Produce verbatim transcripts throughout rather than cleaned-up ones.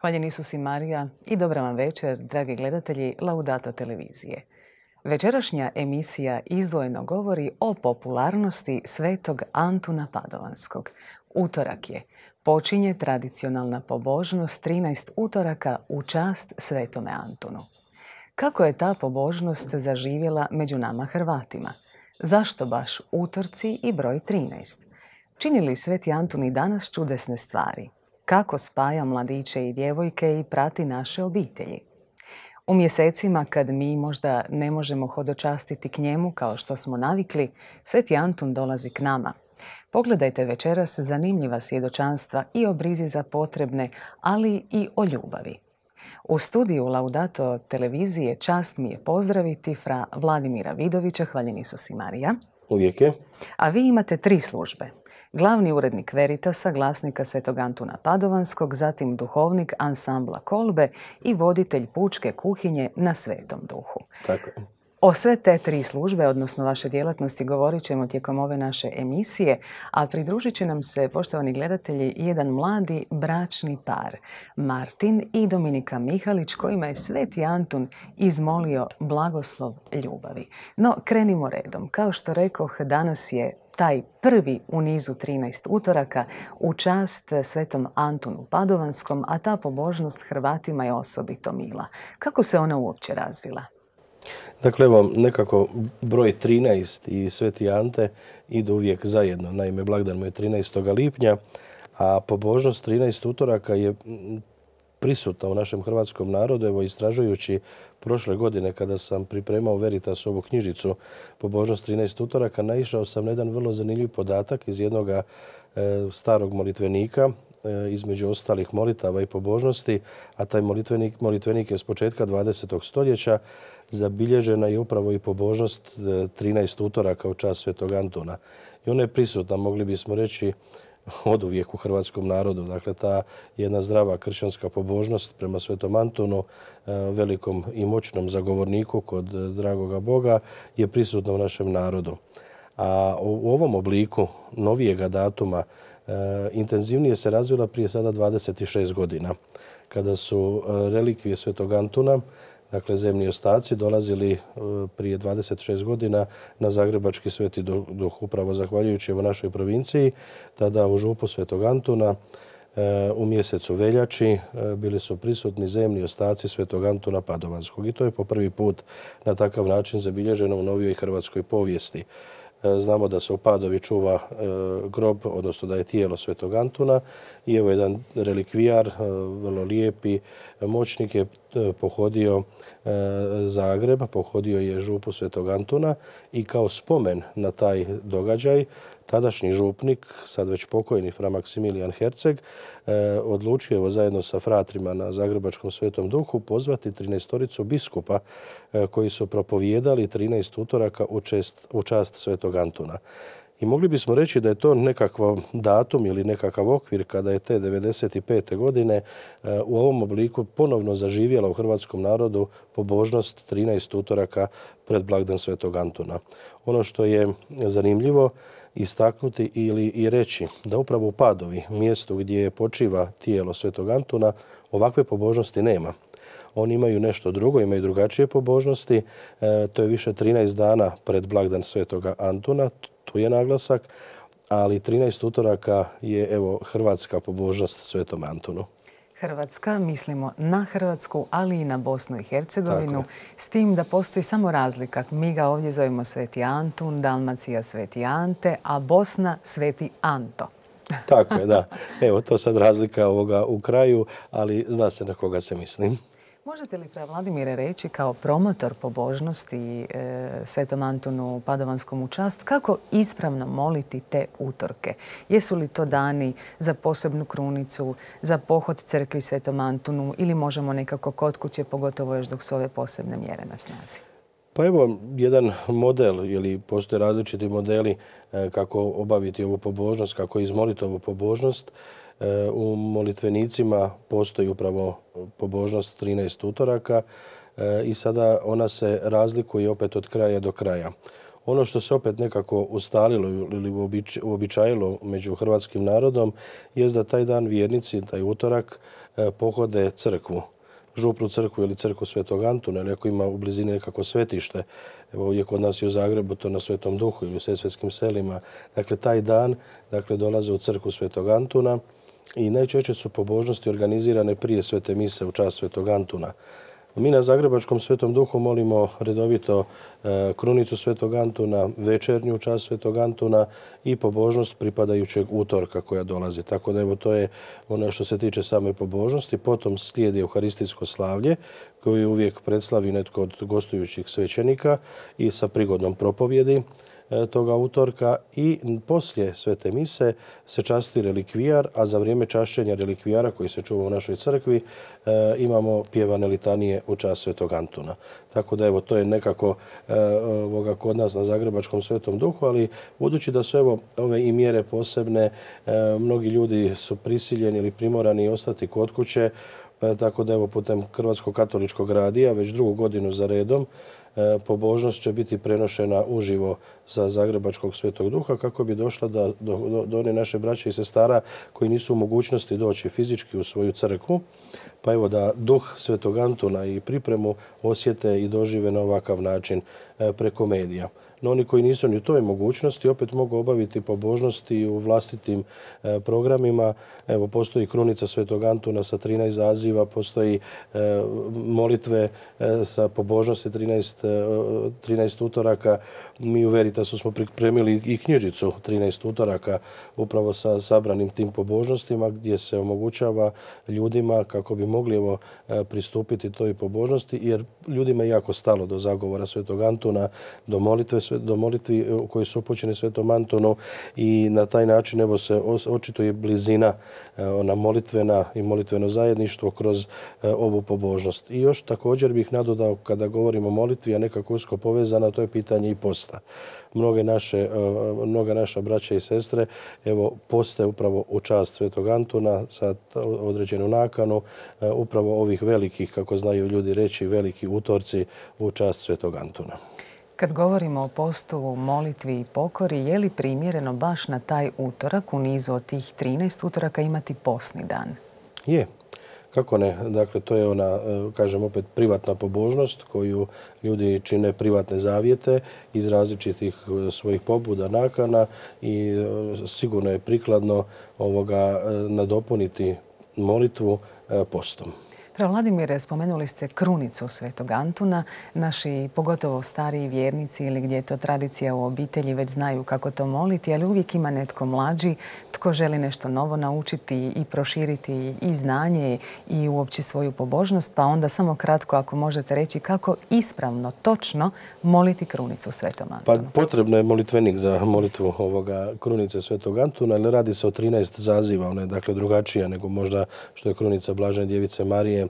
Hvaljen Isus i Marija i dobra vam večer, dragi gledatelji Laudato televizije. Večerašnja emisija izdvojeno govori o popularnosti svetog Antuna Padovanskog. Utorak je. Počinje tradicionalna pobožnost trinaest utoraka u čast svetome Antunu. Kako je ta pobožnost zaživjela među nama Hrvatima? Zašto baš utorci i broj trinaest? Čini li sveti Antun i danas čudesne stvari? Kako spaja mladiće i djevojke i prati naše obitelji? U mjesecima kad mi možda ne možemo hodočastiti k njemu kao što smo navikli, sveti Antun dolazi k nama. Pogledajte večeras zanimljiva svjedočanstva i o brizi za potrebne, ali i o ljubavi. U studiju Laudato televizije čast mi je pozdraviti fra Vladimira Vidovića, hvaljen Isus i Marija. Uvijek je. A vi imate tri službe. Glavni urednik Veritasa, glasnika svetog Antuna Padovanskog, zatim duhovnik ansambla Kolbe i voditelj pučke kuhinje na Svetom Duhu. Tako je. O sve te tri službe, odnosno vaše djelatnosti, govorit ćemo tijekom ove naše emisije, a pridružit će nam se, poštovani gledatelji, jedan mladi bračni par, Martin i Dominika Mihalić, kojima je sveti Antun izmolio blagoslov ljubavi. No, krenimo redom. Kao što rekoh, danas je taj prvi u nizu trinaest utoraka u čast svetom Antunu Padovanskom, a ta pobožnost Hrvatima je osobito mila. Kako se ona uopće razvila? Dakle, evo, nekako broj trinaest i sveti Ante idu uvijek zajedno. Naime, blagdan mu je trinaestog lipnja, a pobožnost trinaest utoraka je prisutna u našem hrvatskom narodu. Evo, istražujući prošle godine kada sam pripremao Veritas ovu knjižicu pobožnost trinaest utoraka, naišao sam na jedan vrlo zanimljiv podatak iz jednog e, starog molitvenika, e, između ostalih molitava i pobožnosti, a taj molitvenik, molitvenik je s početka dvadesetog stoljeća. Zabilježena je upravo i pobožnost trinaest utoraka u čast svetog Antuna. I ona je prisutna, mogli bismo reći, oduvijek u hrvatskom narodu. Dakle, ta jedna zdrava kršćanska pobožnost prema svetom Antunu, velikom i moćnom zagovorniku kod dragoga Boga, je prisutna u našem narodu. A u ovom obliku novijega datuma intenzivnije se razvila prije sada dvadeset šest godina, kada su relikvije svetog Antuna, dakle zemni ostaci, dolazili prije dvadeset šest godina na Zagrebački Sveti Duh, upravo zahvaljujući evo našoj provinciji. Tada u župu svetog Antuna u mjesecu veljači bili su prisutni zemni ostaci svetog Antuna Padovanskog. I to je po prvi put na takav način zabilježeno u novijoj hrvatskoj povijesti. Znamo da se u Padovi čuva grob, odnosno da je tijelo svetog Antuna, i evo jedan relikvijar, vrlo lijepi moćnik, je pohodio Zagreb, pohodio je župu svetog Antuna i kao spomen na taj događaj tadašnji župnik, sad već pokojni fra Maksimilijan Herceg, odlučio evo zajedno sa fratrima na Zagrebačkom Svetom Duhu pozvati trinaestoricu biskupa koji su propovijedali trinaest utoraka u čast, u čast svetog Antuna. I mogli bismo reći da je to nekakav datum ili nekakav okvir kada je te devedeset pete godine u ovom obliku ponovno zaživjela u hrvatskom narodu pobožnost trinaest utoraka pred blagdan svetog Antuna. Ono što je zanimljivo istaknuti ili i reći da upravo u Padovi, mjestu gdje počiva tijelo svetog Antuna, ovakve pobožnosti nema. Oni imaju nešto drugo, imaju drugačije pobožnosti. E, to je više trinaest dana pred blagdan svetog Antuna, tu je naglasak, ali trinaest utoraka je evo hrvatska pobožnost svetom Antunu. Hrvatska, mislimo na Hrvatsku, ali i na Bosnu i Hercegovinu, s tim da postoji samo razlika. Mi ga ovdje zovemo sveti Antun, Dalmacija sveti Ante, a Bosna sveti Anto. Tako je, da. Evo, to sad razlika ovoga u kraju, ali zna se na koga se mislim. Možete li, fra Vladimire, reći kao promotor pobožnosti e, svetom Antunu Padovanskom u čast, kako ispravno moliti te utorke? Jesu li to dani za posebnu krunicu, za pohod crkvi svetom Antunu ili možemo nekako kod kuće, pogotovo još dok su ove posebne mjere na snazi? Pa evo, jedan model ili postoje različiti modeli kako obaviti ovu pobožnost, kako izmoliti ovu pobožnost. U molitvenicima postoji upravo pobožnost trinaest utoraka. i sada ona se razlikuje opet od kraja do kraja. Ono što se opet nekako ustalilo ili uobičajilo među hrvatskim narodom je da taj dan vjernici, taj utorak, pohode crkvu. Župnu crkvu ili crkvu Svetog Antuna, ili ako ima u blizini nekako svetište. Evo ovdje kod nas i u Zagrebu, to na Svetom Duhu ili u Sesvetskim selima. Dakle, taj dan dakle, dolaze u crkvu Svetog Antuna i najčešće su pobožnosti organizirane prije svete mise u čast Svetog Antuna. Mi na Zagrebačkom Svetom Duhu molimo redovito krunicu Svetog Antuna, večernju u čast Svetog Antuna i pobožnost pripadajućeg utorka koja dolazi. Tako da evo to je ono što se tiče same pobožnosti. Potom slijedi euharistijsko slavlje koje uvijek predslavi netko od gostujućih svećenika i sa prigodnom propovjedi toga utorka i poslije svete mise se časti relikvijar, a za vrijeme čašćenja relikvijara koji se čuva u našoj crkvi imamo pjevane litanije u čast Svetog Antuna. Tako da evo to je nekako ovoga kod nas na Zagrebačkom Svetom Duhu, ali budući da su evo ove i mjere posebne, mnogi ljudi su prisiljeni ili primorani ostati kod kuće, tako da evo putem Hrvatskog katoličkog radija već drugu godinu za redom pobožnost će biti prenošena uživo sa Zagrebačkog Svetog Duha kako bi došla do, do, do one naše braće i sestara koji nisu u mogućnosti doći fizički u svoju crkvu. Pa evo da duh Svetog Antuna i pripremu osjete i dožive na ovakav način preko medija. No oni koji nisu ni u toj mogućnosti opet mogu obaviti pobožnosti u vlastitim e, programima. Evo, postoji krunica Svetog Antuna sa trinaest zaziva, postoji e, molitve e, sa pobožnosti trinaest, e, trinaest utoraka. Mi u Veritasu smo pripremili i knjižicu trinaest utoraka upravo sa sabranim tim pobožnostima gdje se omogućava ljudima kako bi mogli evo, pristupiti toj pobožnosti jer ljudima je jako stalo do zagovora Svetog Antuna, do molitve do molitvi koji su upućeni Svetom Antonu i na taj način evo se očituje blizina ona molitvena i molitveno zajedništvo kroz ovu pobožnost. I još također bih nadodao kada govorimo o molitvi, a nekako usko povezana, to je pitanje i posta. Mnoge naše, mnoga naša braća i sestre evo poste upravo u čast Svetog Antuna sa određenu nakanu upravo ovih velikih, kako znaju ljudi reći, veliki utorci u čast Svetog Antuna. Kad govorimo o postu, molitvi i pokori, je li primjereno baš na taj utorak u nizu od tih trinaest utoraka imati postni dan? Je. Kako ne? Dakle, to je ona, kažem opet, privatna pobožnost koju ljudi čine privatne zavjete iz različitih svojih pobuda, nakana i sigurno je prikladno ovoga nadopuniti molitvu postom. Fra Vladimire, spomenuli ste krunicu Svetog Antuna. Naši, pogotovo stariji vjernici ili gdje je to tradicija u obitelji, već znaju kako to moliti, ali uvijek ima netko mlađi tko želi nešto novo naučiti i proširiti i znanje i uopće svoju pobožnost. Pa onda samo kratko, ako možete reći kako ispravno, točno moliti krunicu Svetom Antunu. Pa potrebno je molitvenik za molitvu ovoga krunice Svetog Antuna, ali radi se o trinaest zaziva. Ona je dakle drugačija nego možda što je krunica Blažene Djevice Marije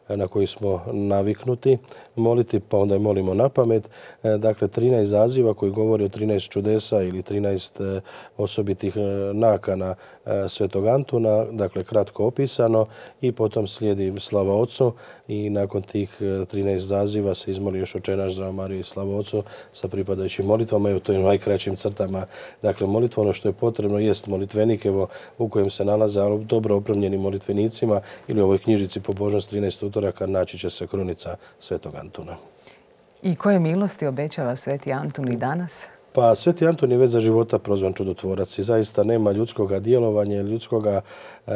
na koji smo naviknuti moliti, pa onda je molimo na pamet. Dakle, trinaest zaziva koji govori o trinaest čudesa ili trinaest osobitih nakana Svetog Antuna, dakle kratko opisano i potom slijedi slava Otcu i nakon tih trinaest zaziva se izmoli još Oče naš, Zdravo Marijo i slava Otcu sa pripadajućim molitvama. Evo to je u najkraćim crtama. Dakle, molitva, ono što je potrebno jest molitvenik evo, u kojem se nalaze dobro opremljeni molitvenicima ili u ovoj knjižici Pobožnost trinaest utoraka naći će se krunica Svetog Antuna. I koje milosti obećava Sveti Antun i danas? Pa Sveti Antun je već za života prozvan čudotvorac i zaista nema ljudskoga djelovanja, ljudskoga e,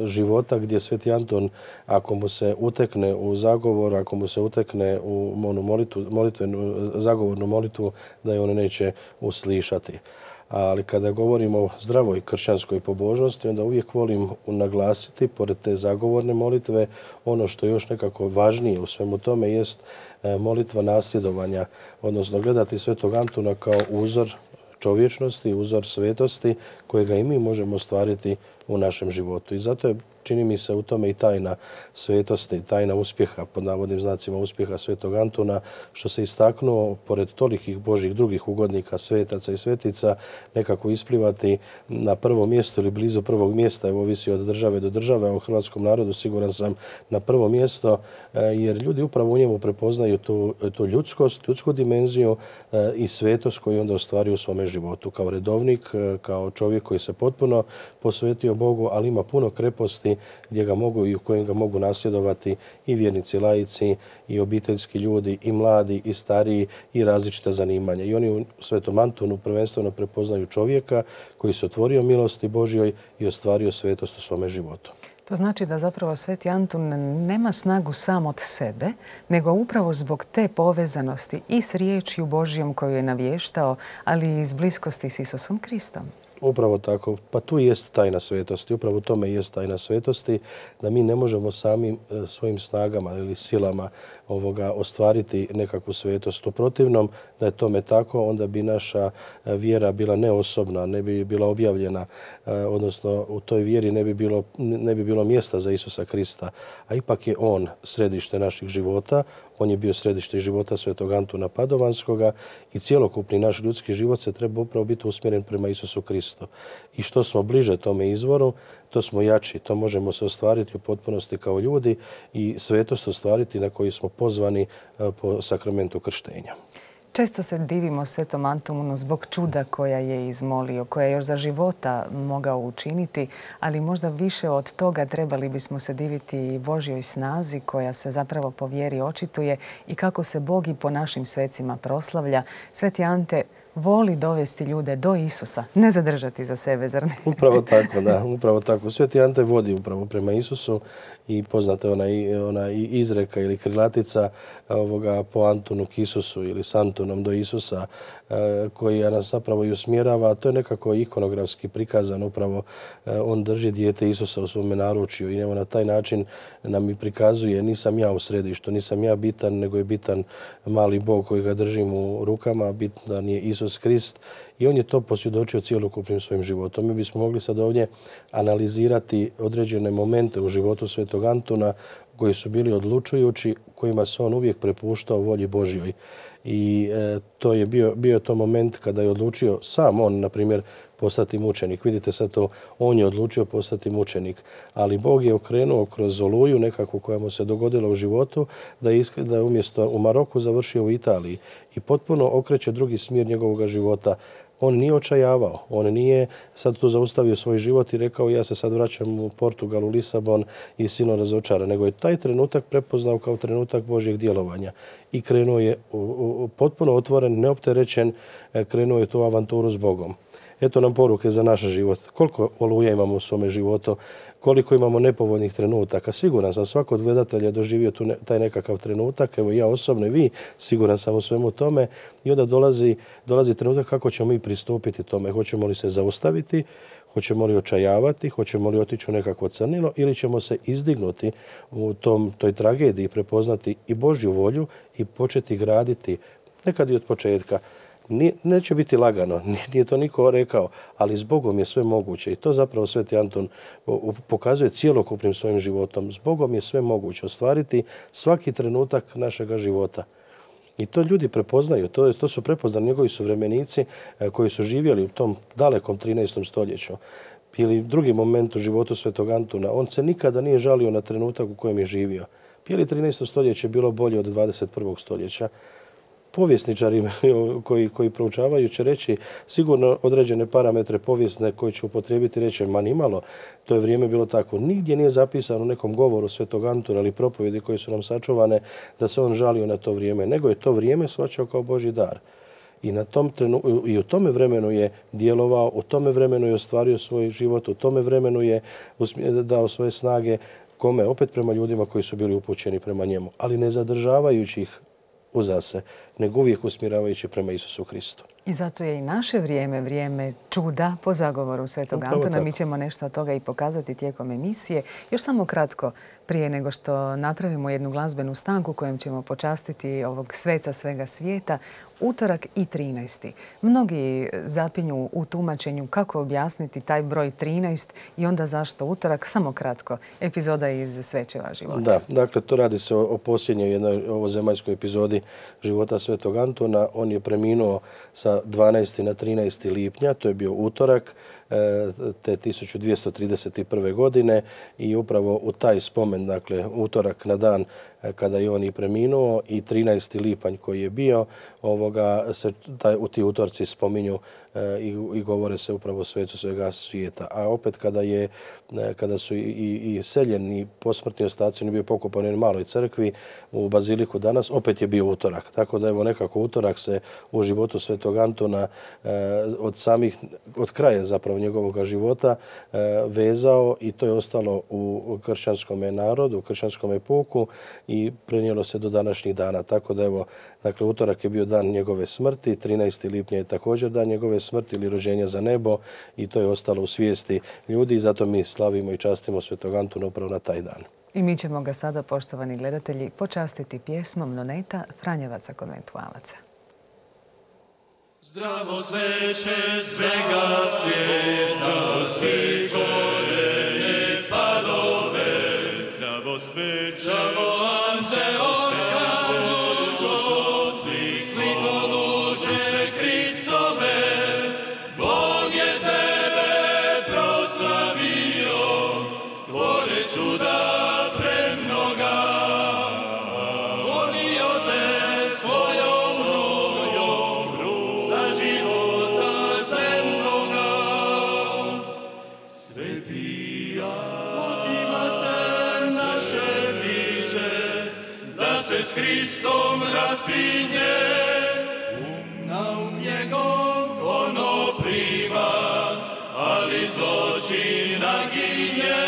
života gdje Sveti Antun, ako mu se utekne u zagovor, ako mu se utekne u onu molitvu, molitvenu, zagovornu molitvu, da je on neće uslišati. Ali kada govorimo o zdravoj kršćanskoj pobožnosti, onda uvijek volim naglasiti, pored te zagovorne molitve, ono što je još nekako važnije u svemu tome jest molitva nasljedovanja, odnosno gledati Svetog Antuna kao uzor čovječnosti, uzor svetosti kojega i mi možemo ostvariti u našem životu. I zato je, čini mi se, u tome i tajna svetosti, tajna uspjeha, pod navodnim znacima uspjeha svetog Antuna, što se istaknuo, pored tolikih Božih drugih ugodnika, svetaca i svetica, nekako isplivati na prvo mjesto ili blizu prvog mjesta, evo ovisi od države do države, a u hrvatskom narodu siguran sam na prvo mjesto, jer ljudi upravo u njemu prepoznaju tu, tu ljudskost, ljudsku dimenziju i svetost koju onda ostvari u svome životu. Kao redovnik, kao čovjek koji se potpuno posvetio Bogu, ali ima puno kreposti gdje ga mogu i u kojem ga mogu nasljedovati i vjernici, laici, i obiteljski ljudi, i mladi, i stariji, i različita zanimanja. I oni u svetom Antunu prvenstveno prepoznaju čovjeka koji se otvorio milosti Božjoj i ostvario svetost u svome životu. To znači da zapravo sveti Antun nema snagu sam od sebe, nego upravo zbog te povezanosti i s riječju Božjom koju je navještao, ali i s bliskosti s Isusom Kristom. Upravo tako. Pa tu jest tajna svetosti. Upravo u tome jest tajna svetosti, da mi ne možemo samim svojim snagama ili silama ovoga ostvariti nekakvu svetost. U protivnom, da je tome tako, onda bi naša vjera bila neosobna, ne bi bila objavljena, odnosno u toj vjeri ne bi bilo, ne bi bilo mjesta za Isusa Krista. A ipak je On središte naših života. On je bio središte života svetog Antuna Padovanskoga i cjelokupni naš ljudski život se treba upravo biti usmjeren prema Isusu Kristu. I što smo bliže tome izvoru, to smo jači. To možemo se ostvariti u potpunosti kao ljudi i svetost ostvariti na koju smo pozvani po sakramentu krštenja. Često se divimo svetom Antunu zbog čuda koja je izmolio, koja je još za života mogao učiniti, ali možda više od toga trebali bismo se diviti Božjoj snazi koja se zapravo po vjeri očituje i kako se Bog i po našim svecima proslavlja. Sveti Ante voli dovesti ljude do Isusa, ne zadržati za sebe, zar ne? Upravo tako, da. Upravo tako. Sveti Ante vodi upravo prema Isusu i poznata je ona, ona izreka ili krilatica ovoga po Antunu k Isusu ili s Antunom do Isusa, koji nas zapravo i usmjerava. To je nekako ikonografski prikazano. Upravo on drži dijete Isusa u svome naručju i evo na taj način nam i prikazuje nisam ja u središtu, nisam ja bitan, nego je bitan mali Bog koji ga držim u rukama, bitan je Isus Krist. I on je to posvjedočio cjelokupnim svojim životom. Mi bismo mogli sad ovdje analizirati određene momente u životu svetog Antuna koji su bili odlučujući, kojima se on uvijek prepuštao volji Božjoj. I e, to je bio, bio to moment kada je odlučio sam on, na primjer, postati mučenik. Vidite sad to, on je odlučio postati mučenik, ali Bog je okrenuo kroz oluju nekako koja mu se dogodila u životu, da je, da je umjesto u Maroku završio u Italiji i potpuno okreće drugi smjer njegovog života. On nije očajavao, on nije sad tu zaustavio svoj život i rekao ja se sad vraćam u Portugal, u Lisabon i silno razočaran, nego je taj trenutak prepoznao kao trenutak Božjeg djelovanja i krenuo je u, u, potpuno otvoren, neopterećen, krenuo je tu avanturu s Bogom. Eto nam poruke za naš život. Koliko oluja imamo u svome životu, koliko imamo nepovoljnih trenutaka. Siguran sam, svako od gledatelja doživio tu ne, taj nekakav trenutak. Evo ja osobno i vi, siguran sam u svemu tome. I onda dolazi, dolazi trenutak kako ćemo mi pristupiti tome. Hoćemo li se zaustaviti, hoćemo li očajavati, hoćemo li otići u nekakvo crnilo ili ćemo se izdignuti u tom, toj tragediji, prepoznati i Božju volju i početi graditi, nekad i od početka. Neće biti lagano, nije to niko rekao, ali s Bogom je sve moguće i to zapravo sveti Anton pokazuje cijelokupnim svojim životom. S Bogom je sve moguće ostvariti svaki trenutak našega života. I to ljudi prepoznaju, to, to su prepoznali njegovi suvremenici koji su živjeli u tom dalekom trinaestom stoljeću. Ili drugi moment u životu svetog Antuna, on se nikada nije žalio na trenutak u kojem je živio. Ili trinaesto stoljeće bilo bolje od dvadeset prvog stoljeća. Povjesničari koji, koji proučavaju će reći sigurno određene parametre povijesne koje će upotrijebiti reći ma nimalo, to je vrijeme bilo tako. Nigdje nije zapisano u nekom govoru svetog Antuna ili propovjedi koje su nam sačuvane da se on žalio na to vrijeme, nego je to vrijeme shvaćao kao Božji dar. I, na tom trenu, i u tome vremenu je djelovao, u tome vremenu je ostvario svoj život, u tome vremenu je dao svoje snage, kome? Opet prema ljudima koji su bili upućeni prema njemu, ali ne zadržavajući ih uza se, nego uvijek usmjeravajući prema Isusu Hristu. I zato je i naše vrijeme vrijeme čuda po zagovoru Svetog Antuna. Mi ćemo nešto od toga i pokazati tijekom emisije. Još samo kratko, prije nego što napravimo jednu glazbenu stanku kojom ćemo počastiti ovog sveca svega svijeta, utorak i trinaesti. Mnogi zapinju u tumačenju kako objasniti taj broj trinaest i onda zašto utorak. Samo kratko, epizoda iz Svećeva života. Da, dakle, to radi se o, o posljednjoj jednoj ovozemaljskoj epizodi života Svetog Antuna. On je preminuo sa dvanaestog na trinaesti lipnja, to je bio utorak te tisuću dvjesto trideset prve. godine i upravo u taj spomen, dakle utorak na dan kada je on i preminuo i trinaesti lipanj koji je bio, ovoga, se taj, u ti utorci spominju e, i, i govore se upravo o svecu svega svijeta. A opet kada, je, kada su i, i, i seljeni posmrtni ostaci, on je bio pokopan u jednoj maloj crkvi u Baziliku danas, opet je bio utorak. Tako da evo nekako utorak se u životu Svetog Antuna e, od samih, od kraja zapravo njegovog života e, vezao i to je ostalo u kršćanskom narodu, u kršćanskom puku i prenijelo se do današnjih dana. Tako da evo, dakle, utorak je bio dan njegove smrti, trinaesti lipnja je također dan njegove smrti ili rođenja za nebo i to je ostalo u svijesti ljudi i zato mi slavimo i častimo Svetog Antuna upravo na taj dan. I mi ćemo ga sada, poštovani gledatelji, počastiti pjesmom Noneta Franjevaca konventualaca. Zdravo sveće svega svijeta, svi korenje spadove, zdravo sveće, zdravo anđeoska dušo, svi sliko duše Kristove, Bog je tebe proslavio, tvore čuda premnoga, volio te svojom rujom, za života zemnoga. Sveti Antima se naše biće, da se s Kristom raspinje, um nauk njegov ono prima, ali zločina ginje.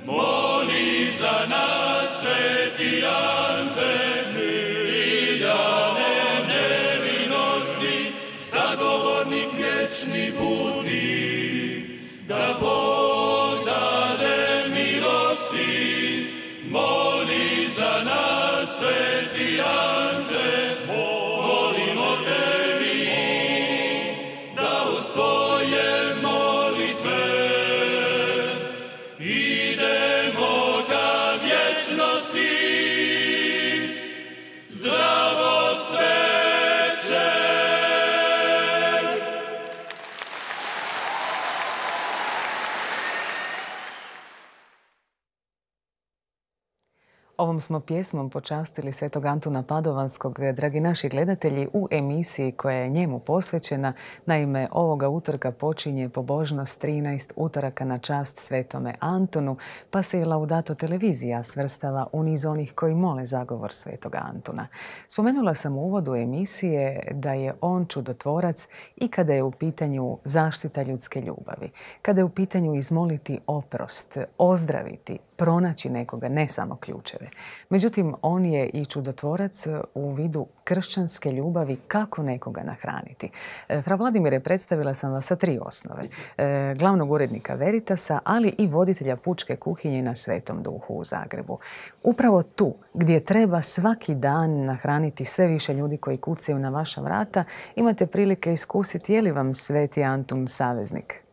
Moli za nas, sveti Ante, miljane nevinosti, zagovornik vječni budi, da Bog dane milosti. Moli za nas, sveti Ante, molimo tebi, da uz tvoje molitve idemo ka vječnosti. Zdravo sveće! Ovom smo pjesmom počastili Svetog Antuna Padovanskog, dragi naši gledatelji, u emisiji koja je njemu posvećena. Naime, ovoga utorka počinje pobožnost trinaest utoraka na čast Svetome Antunu, pa se i Laudato televizija svrstava u niz onih koji mole zagovor Svetog Antuna. Spomenula sam u uvodu emisije da je on čudotvorac i kada je u pitanju zaštita ljudske ljubavi, kada je u pitanju izmoliti oprost, ozdraviti, pronaći nekoga, ne samo ključeve. Međutim, on je i čudotvorac u vidu kršćanske ljubavi kako nekoga nahraniti. Fra Vladimire, predstavila sam vas sa tri osnove. Glavnog urednika Veritasa, ali i voditelja pučke kuhinje na Svetom Duhu u Zagrebu. Upravo tu, gdje treba svaki dan nahraniti sve više ljudi koji kucaju na vaša vrata, imate prilike iskusiti je li vam Sveti Antun saveznik?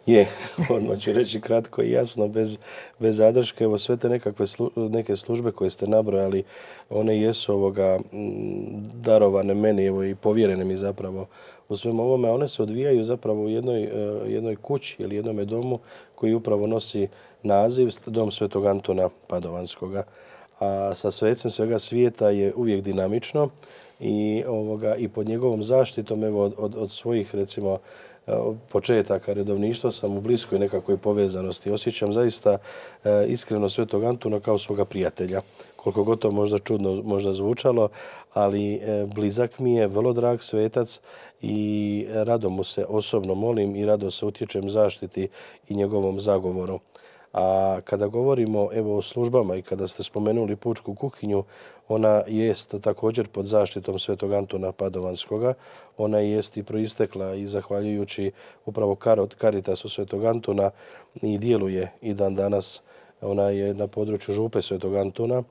Je, odmah ću reći kratko i jasno, bez, bez zadrške. Evo sve te nekakve slu, neke službe koje ste nabrojali, one jesu ovoga darovane meni, evo i povjerene mi zapravo u svem ovome. One se odvijaju zapravo u jednoj, jednoj kući ili jednome domu koji upravo nosi naziv Dom Svetog Antuna Padovanskoga. A sa svecem svega svijeta je uvijek dinamično i, ovoga, i pod njegovom zaštitom evo, od, od, od svojih recimo početaka redovništva sam u bliskoj nekakvoj povezanosti. Osjećam zaista e, iskreno Svetog Antuna kao svoga prijatelja. Koliko god to možda čudno možda zvučalo, ali e, blizak mi je, vrlo drag svetac i rado mu se osobno molim i rado se utječem zaštiti i njegovom zagovoru. A kada govorimo evo, o službama i kada ste spomenuli pučku kuhinju, ona jest također pod zaštitom Svetog Antuna Padovanskoga. Ona jest i proistekla i zahvaljujući upravo Caritasu Svetog Antuna i djeluje i dan danas. Ona je na području župe Svetog Antuna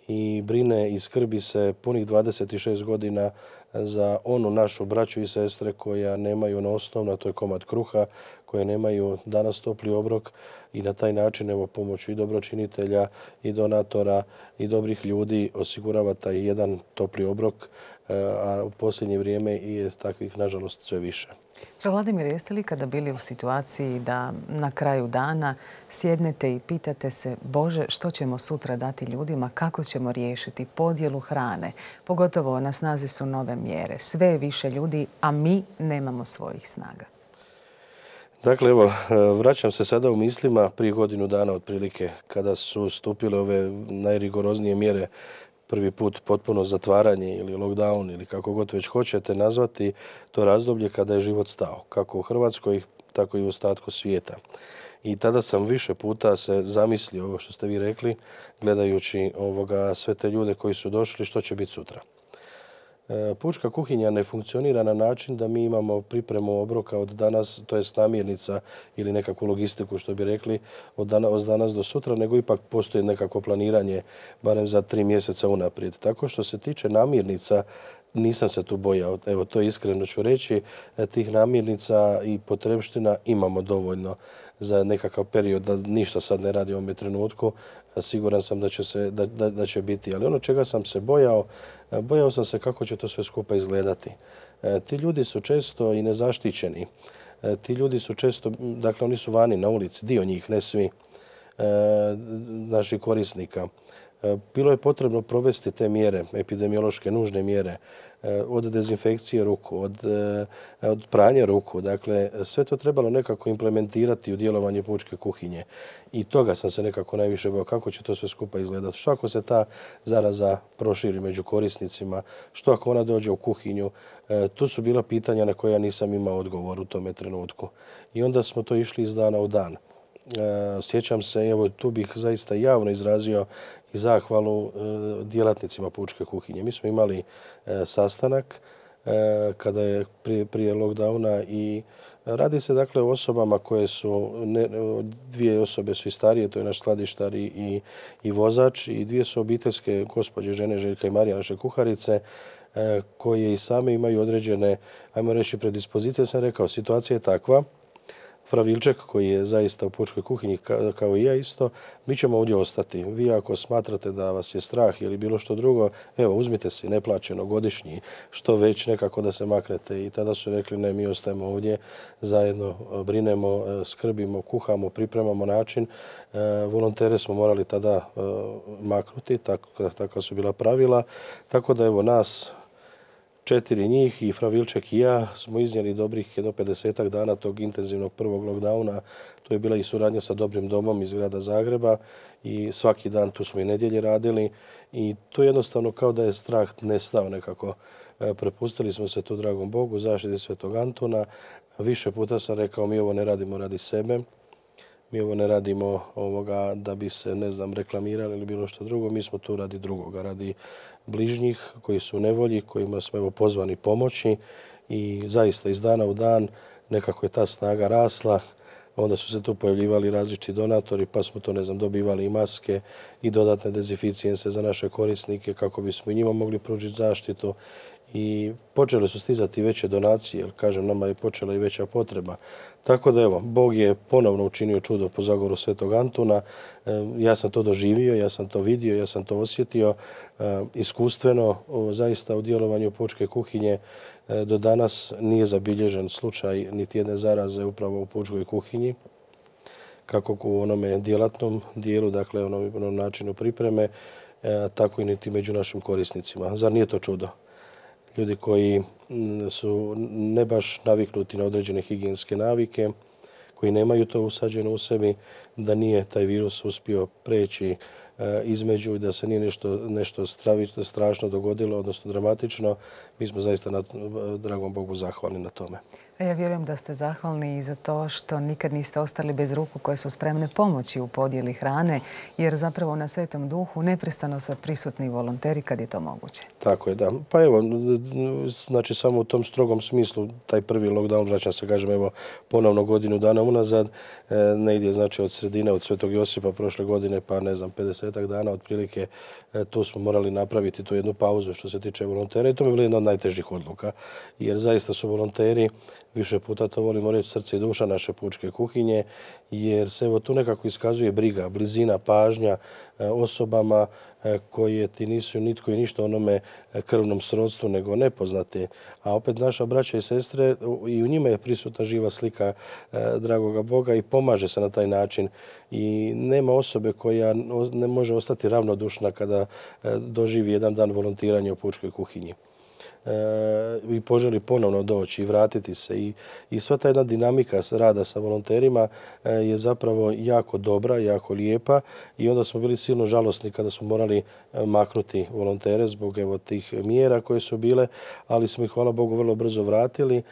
i brine i skrbi se punih dvadeset šest godina za onu našu braću i sestre koja nemaju na osnovno, to je komad kruha, koje nemaju danas topli obrok i na taj način evo pomoću i dobročinitelja i donatora i dobrih ljudi osigurava taj jedan topli obrok, a u posljednje vrijeme je takvih nažalost sve više. Vladimir, jeste li kada bili u situaciji da na kraju dana sjednete i pitate se Bože, što ćemo sutra dati ljudima, kako ćemo riješiti podjelu hrane? Pogotovo na snazi su nove mjere. Sve je više ljudi, a mi nemamo svojih snaga. Dakle, evo, vraćam se sada u mislima prije godinu dana otprilike, kada su stupile ove najrigoroznije mjere, prvi put potpuno zatvaranje ili lockdown ili kako god već hoćete nazvati, to razdoblje kada je život stao, kako u Hrvatskoj, tako i u ostatku svijeta. I tada sam više puta se zamislio ovo što ste vi rekli, gledajući ovoga, sve te ljude koji su došli, što će biti sutra. Pučka kuhinja ne funkcionira na način da mi imamo pripremu obroka od danas, to je namirnica ili nekakvu logistiku što bi rekli od danas do sutra, nego ipak postoji nekako planiranje barem za tri mjeseca unaprijed. Tako što se tiče namirnica, nisam se tu bojao, evo to iskreno ću reći, tih namirnica i potrebština imamo dovoljno za nekakav period, da ništa sad ne radi u ovome trenutku. Siguran sam da će, se, da, da, da će biti. Ali ono čega sam se bojao, bojao sam se kako će to sve skupa izgledati. E, ti ljudi su često i nezaštićeni. E, ti ljudi su često, dakle oni su vani na ulici, dio njih, ne svi, e, naših korisnika. E, bilo je potrebno provesti te mjere, epidemiološke, nužne mjere, od dezinfekcije ruku, od, od pranja ruku. Dakle, sve to trebalo nekako implementirati u djelovanje pučke kuhinje. I toga sam se nekako najviše bojao, kako će to sve skupa izgledati. Što ako se ta zaraza proširi među korisnicima, što ako ona dođe u kuhinju. E, tu su bila pitanja na koja ja nisam imao odgovor u tome trenutku. I onda smo to išli iz dana u dan. E, sjećam se, evo tu bih zaista javno izrazio i zahvalu djelatnicima pučke kuhinje. Mi smo imali sastanak kada je prije, prije lockdowna i radi se dakle o osobama koje su, ne, dvije osobe su i starije, to je naš skladištar i, i vozač, i dvije su obiteljske gospođe, žene Željka i Marija, naše kuharice, koje i same imaju određene, ajmo reći, predispozicije. Sam rekao, situacija je takva, Fravilček, koji je zaista u pučkoj kuhinji kao i ja isto, mi ćemo ovdje ostati. Vi ako smatrate da vas je strah ili bilo što drugo, evo uzmite si neplaćeno godišnji, što već nekako da se maknete. I tada su rekli ne, mi ostajemo ovdje, zajedno brinemo, skrbimo, kuhamo, pripremamo način. Volontere smo morali tada maknuti, tako, tako su bila pravila. Tako da evo nas, četiri njih i Fravilček i ja smo iznijeli dobrih jedno pedesetak dana tog intenzivnog prvog lockdowna. To je bila i suradnja sa Dobrim domom iz grada Zagreba i svaki dan tu smo i nedjelje radili i to jednostavno kao da je strah nestao nekako. Prepustili smo se tu, dragom Bogu, zaštiti Svetog Antuna. Više puta sam rekao, mi ovo ne radimo radi sebe. Mi ovo ne radimo ovoga da bi se, ne znam, reklamirali ili bilo što drugo. Mi smo tu radi drugoga, radi bližnjih koji su u nevolji, kojima smo evo pozvani pomoći i zaista iz dana u dan nekako je ta snaga rasla. Onda su se tu pojavljivali različiti donatori, pa smo to, ne znam, dobivali i maske i dodatne dezinficijense za naše korisnike kako bismo i njima mogli pružiti zaštitu. I počele su stizati veće donacije, jer kažem, nama je počela i veća potreba. Tako da evo, Bog je ponovno učinio čudo po zagovoru Svetog Antuna. Ja sam to doživio, ja sam to vidio, ja sam to osjetio iskustveno. Zaista u djelovanju pučke kuhinje do danas nije zabilježen slučaj niti jedne zaraze upravo u pučkoj kuhinji, kako u onome djelatnom dijelu, dakle onom, onom načinu pripreme, tako i niti među našim korisnicima. Zar nije to čudo? Ljudi koji su ne baš naviknuti na određene higijenske navike, koji nemaju to usađeno u sebi, da nije taj virus uspio preći između i da se nije nešto, nešto stravično, strašno dogodilo, odnosno dramatično. Mi smo zaista, na, dragom Bogu, zahvalni na tome. Ja vjerujem da ste zahvalni i za to što nikad niste ostali bez ruku koje su spremne pomoći u podjeli hrane, jer zapravo na Svetom Duhu neprestano su prisutni volonteri kad je to moguće. Tako je, da. Pa evo, znači samo u tom strogom smislu, taj prvi lockdown, vraćam se, kažem, evo, ponovno godinu dana unazad, negdje, znači od sredine, od Svetog Josipa prošle godine, pa ne znam, pedesetak dana otprilike, tu smo morali napraviti tu jednu pauzu što se tiče volontera i to mi je bila jedna od najtežih odluka, jer zaista su volonteri, više puta to volimo reći, srce i duša naše pučke kuhinje, jer se evo tu nekako iskazuje briga, blizina, pažnja osobama koje ti nisu nitko i ništa onome krvnom srodstvu nego nepoznate. A opet naša braća i sestre, i u njima je prisutna živa slika dragoga Boga i pomaže se na taj način. I nema osobe koja ne može ostati ravnodušna kada doživi jedan dan volontiranja u pučkoj kuhinji. I poželi ponovno doći i vratiti se. I, i sva ta jedna dinamika rada sa volonterima je zapravo jako dobra, jako lijepa i onda smo bili silno žalosni kada smo morali maknuti volontere zbog evo tih mjera koje su bile, ali smo ih, hvala Bogu, vrlo brzo vratili.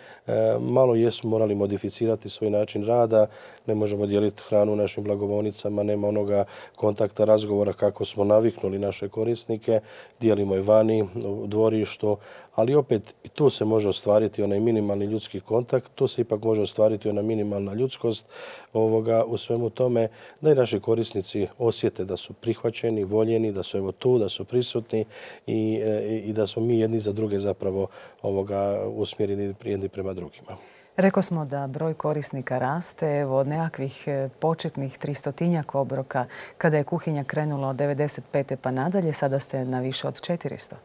Malo jesmo morali modificirati svoj način rada, ne možemo dijeliti hranu u našim blagovonicama, nema onoga kontakta, razgovora kako smo naviknuli naše korisnike, dijelimo je vani, u dvorištu, ali opet i tu se može ostvariti onaj minimalni ljudski kontakt, tu se ipak može ostvariti ona minimalna ljudskost ovoga, u svemu tome, da i naši korisnici osjete da su prihvaćeni, voljeni, da su evo tu, da su prisutni i, i da smo mi jedni za druge zapravo ovoga, usmjereni jedni prema drugima. Rekao smo da broj korisnika raste, evo od nekakvih početnih tristotinjak obroka kada je kuhinja krenula od devedeset pete pa nadalje, sada ste na više od četiristo.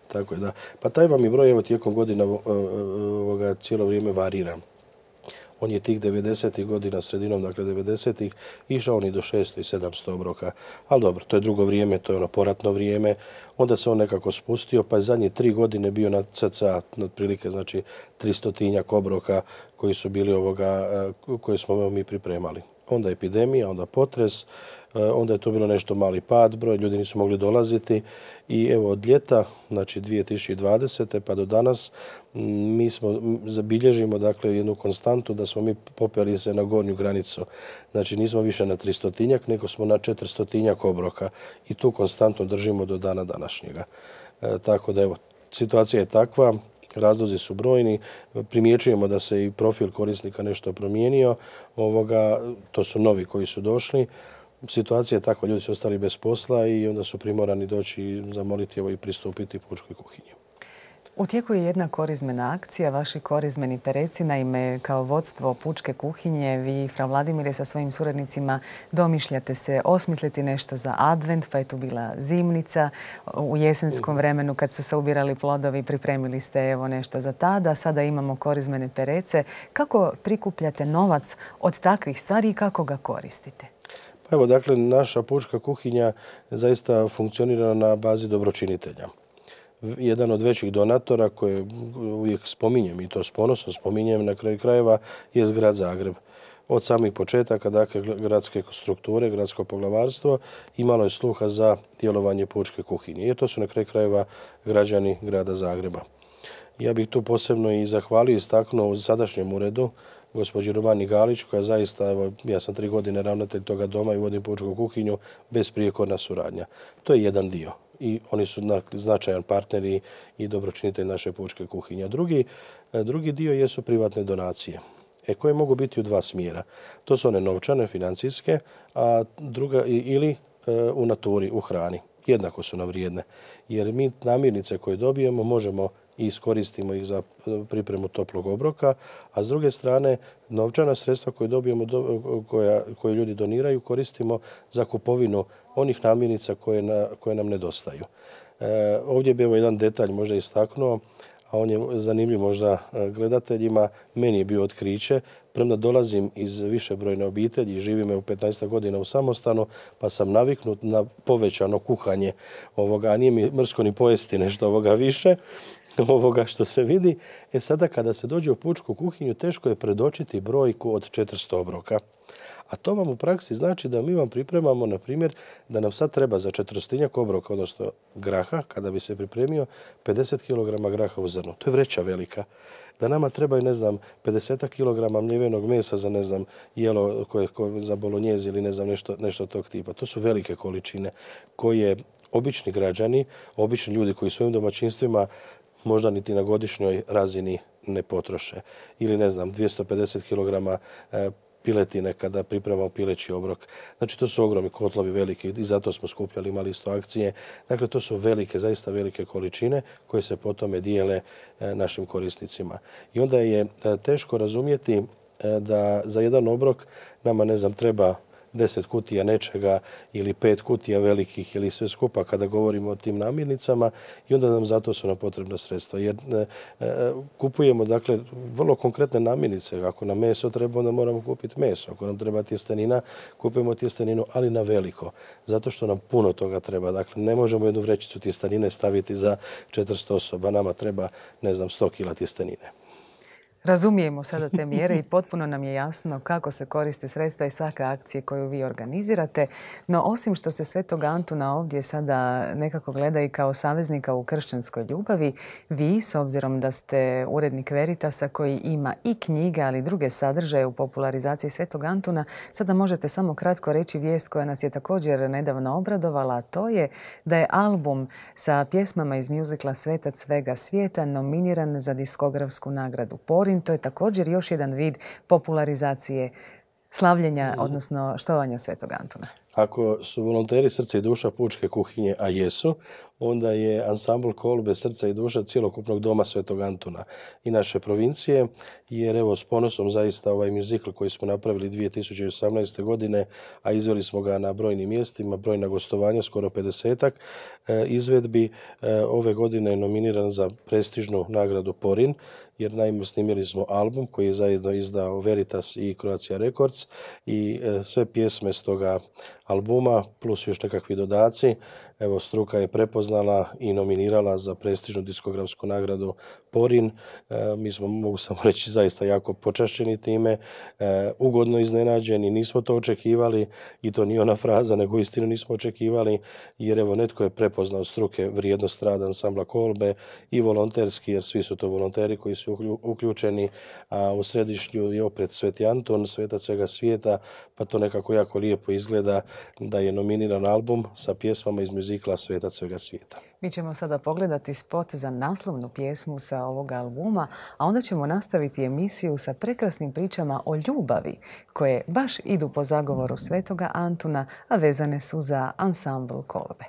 Tako je, da. Pa taj vam je broj evo tijekom godina ovoga, cijelo vrijeme varira. On je tih devedesetih godina, sredinom, dakle devedesetih, išao on i do šesto i sedamsto obroka. Ali dobro, to je drugo vrijeme, to je ono poratno vrijeme. Onda se on nekako spustio, pa je zadnje tri godine bio na cca, otprilike, znači tristotinjak obroka koji su bili ovoga, koje smo mi pripremali. Onda epidemija, onda potres, onda je to bilo nešto mali pad, broj ljudi nisu mogli dolaziti i evo od ljeta, znači dvije tisuće dvadesete pa do danas, mi smo zabilježimo dakle jednu konstantu da smo mi popeli se na gornju granicu. Znači nismo više na tristotinjak, nego smo na četiristotinjak obroka i tu konstantno držimo do dana današnjega. E, tako da evo, situacija je takva. Razlozi su brojni, primjećujemo da se i profil korisnika nešto promijenio, ovoga, to su novi koji su došli. Situacija je takva, ljudi su ostali bez posla i onda su primorani doći i zamoliti evo i pristupiti pučkoj kuhinji. U tijeku je jedna korizmena akcija, vaši korizmeni pereci. Naime, kao vodstvo pučke kuhinje, vi, fra Vladimire, sa svojim suradnicima domišljate se osmisliti nešto za advent, pa je tu bila zimnica. U jesenskom vremenu, kad su se ubirali plodovi, pripremili ste evo nešto za tada. Sada imamo korizmene perece. Kako prikupljate novac od takvih stvari i kako ga koristite? Pa evo, dakle, naša pučka kuhinja zaista funkcionira na bazi dobročinitelja. Jedan od većih donatora koje uvijek spominjem i to s ponosom spominjem na kraju krajeva je grad Zagreb. Od samih početaka, dakle, gradske strukture, gradsko poglavarstvo imalo je sluha za djelovanje pučke kuhinje. I to su na kraju krajeva građani grada Zagreba. Ja bih tu posebno i zahvalio i istaknuo u sadašnjem uredu gospođi Romani Galić, koja zaista, evo, ja sam tri godine ravnatelj toga doma i vodim pučku kuhinju, besprijekorna suradnja. To je jedan dio. I oni su značajan partneri i dobročinitelj naše pučke kuhinje. Drugi, drugi dio jesu privatne donacije, e, koje mogu biti u dva smjera. To su one novčane, financijske, a druga ili e, u naturi, u hrani. Jednako su nam vrijedne, jer mi namirnice koje dobijemo možemo i iskoristimo ih za pripremu toplog obroka, a s druge strane novčana sredstva koje dobijemo, koja, koje ljudi doniraju, koristimo za kupovinu onih namirnica koje, na, koje nam nedostaju. E, ovdje bi evo jedan detalj možda istaknuo, a on je zanimljiv možda gledateljima. Meni je bio otkriće, premda dolazim iz višebrojne obitelji i živim u petnaest godina u samostanu, pa sam naviknut na povećano kuhanje ovoga, a nije mi mrsko ni pojesti nešto ovoga više, ovoga što se vidi. E sada kada se dođe u pučku kuhinju, teško je predočiti brojku od četiristo obroka. A to vam u praksi znači da mi vam pripremamo, na primjer, da nam sad treba za četiristotinjak obroka, odnosno graha, kada bi se pripremio pedeset kilograma graha u zrnu. To je vreća velika. Da nama trebaju, ne znam, pedeset kilograma mljevenog mesa za, ne znam, jelo koje, koje za bolonjezi ili ne znam, nešto, nešto tog tipa. To su velike količine koje obični građani, obični ljudi koji svojim domaćinstvima možda niti na godišnjoj razini ne potroše. Ili, ne znam, dvjesto pedeset kilograma piletine kada pripremamo pileći obrok. Znači, to su ogromni kotlovi veliki i zato smo skupljali, imali isto akcije. Dakle, to su velike, zaista velike količine koje se potom dijele našim korisnicima. I onda je teško razumjeti da za jedan obrok nama, ne znam, treba deset kutija nečega ili pet kutija velikih ili sve skupa kada govorimo o tim namirnicama i onda nam zato su nam potrebna sredstva. Jer e, e, kupujemo dakle vrlo konkretne namirnice. Ako nam meso treba, onda moramo kupiti meso. Ako nam treba tjestenina, kupujemo tjesteninu, ali na veliko. Zato što nam puno toga treba. Dakle, ne možemo jednu vrećicu tjestenine staviti za četiristo osoba. Nama treba, ne znam, sto kila tjestenine. Razumijemo sada te mjere i potpuno nam je jasno kako se koriste sredstva i svake akcije koju vi organizirate. No, osim što se Svetog Antuna ovdje sada nekako gleda i kao saveznika u kršćanskoj ljubavi, vi, s obzirom da ste urednik Veritasa koji ima i knjige, ali i druge sadržaje u popularizaciji Svetog Antuna, sada možete samo kratko reći vijest koja nas je također nedavno obradovala, a to je da je album sa pjesmama iz mjuzikla Svetac svega svijeta nominiran za diskografsku nagradu Porin. To je također još jedan vid popularizacije slavljenja, odnosno štovanja Svetog Antuna. Ako su volonteri Srce i duša pučke kuhinje, a jesu, onda je ansambl Kolbe Srca i duša cjelokupnog doma Svetog Antuna i naše provincije, jer evo s ponosom zaista ovaj mjuzikl koji smo napravili dvije tisuće osamnaeste. godine, a izveli smo ga na brojnim mjestima, brojna gostovanja, skoro pedesetak izvedbi, ove godine je nominiran za prestižnu nagradu Porin, jer naime snimili smo album koji je zajedno izdao Veritas i Croatia Records i sve pjesme s toga albuma plus još nekakvi dodaci. Evo, struka je prepoznala i nominirala za prestižnu diskografsku nagradu Porin. E, mi smo, mogu samo reći, zaista jako počašćeni time, e, ugodno iznenađeni, nismo to očekivali i to nije ona fraza, nego istinu nismo očekivali, jer evo netko je prepoznao struke vrijednost rada ansambla Kolbe i volonterski, jer svi su to volonteri koji su uključeni, a u središtu je opet Sveti Anton, svetac svega svijeta, pa to nekako jako lijepo izgleda da je nominiran album sa pjesmama iz mjuzikla Svetac svega svijeta. Mi ćemo sada pogledati spot za naslovnu pjesmu sa ovog albuma, a onda ćemo nastaviti emisiju sa prekrasnim pričama o ljubavi koje baš idu po zagovoru Svetoga Antuna, a vezane su za ansambl Kolbe.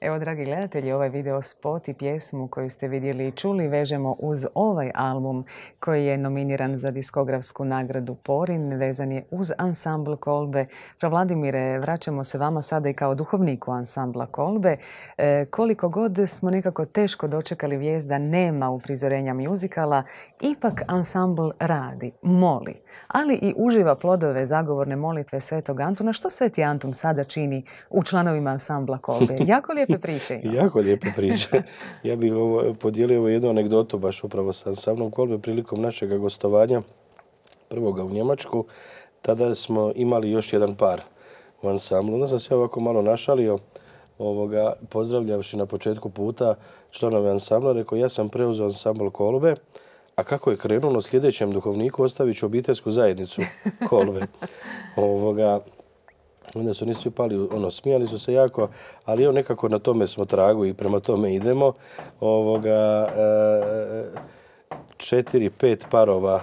Evo, dragi gledatelji, ovaj video spot i pjesmu koju ste vidjeli i čuli vežemo uz ovaj album koji je nominiran za diskografsku nagradu Porin, vezan je uz ansambl Kolbe. Fra Vladimire, vraćamo se vama sada i kao duhovniku ansambla Kolbe. E, koliko god smo nekako teško dočekali vijest da nema uprizorenja mjuzikala, ipak ansambl radi, moli, ali i uživa plodove zagovorne molitve Svetog Antuna. Što Sveti Antun sada čini u članovima ansambla Kolbe? Jako lijepe priče ima. Jako lijepe priče. Ja bih ovo, podijelio ovo jednu anegdotu baš upravo sa ansamblom Kolbe prilikom našeg gostovanja prvoga u Njemačku. Tada smo imali još jedan par u ansamblu. Onda sam se ovako malo našalio, ovoga, pozdravljavši na početku puta članove ansambla, rekao ja sam preuzeo ansambl Kolbe, a kako je krenulo sljedećem duhovniku ostavit ću obiteljsku zajednicu Kolbe. Ovoga, onda su oni svi pali, ono, smijali su se jako, ali evo nekako na tome smo tragu i prema tome idemo. Ovoga, e, četiri, pet parova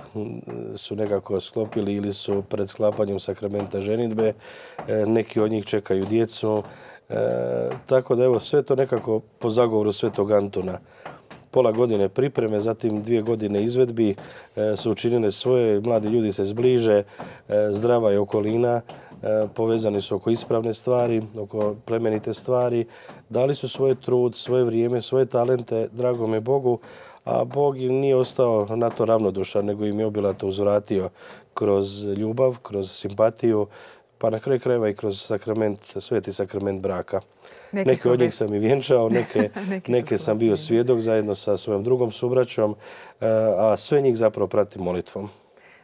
su nekako sklopili ili su pred sklapanjem sakramenta ženidbe. E, neki od njih čekaju djecu. E, tako da evo sve to nekako po zagovoru Svetog Antuna. Pola godine pripreme, zatim dvije godine izvedbi e, su učinile svoje, mladi ljudi se zbliže, e, zdrava je okolina, e, povezani su oko ispravne stvari, oko plemenite stvari, dali su svoj trud, svoje vrijeme, svoje talente, dragome Bogu, a Bog im nije ostao na to ravnodušan, nego im je obilato uzvratio kroz ljubav, kroz simpatiju, pa na kraju krajeva i kroz sakrament, sveti sakrament braka. Neke, neke od njih sam i vjenčao, neke, neke sam bio svjedok zajedno sa svojom drugom subraćom, a sve njih zapravo pratim molitvom.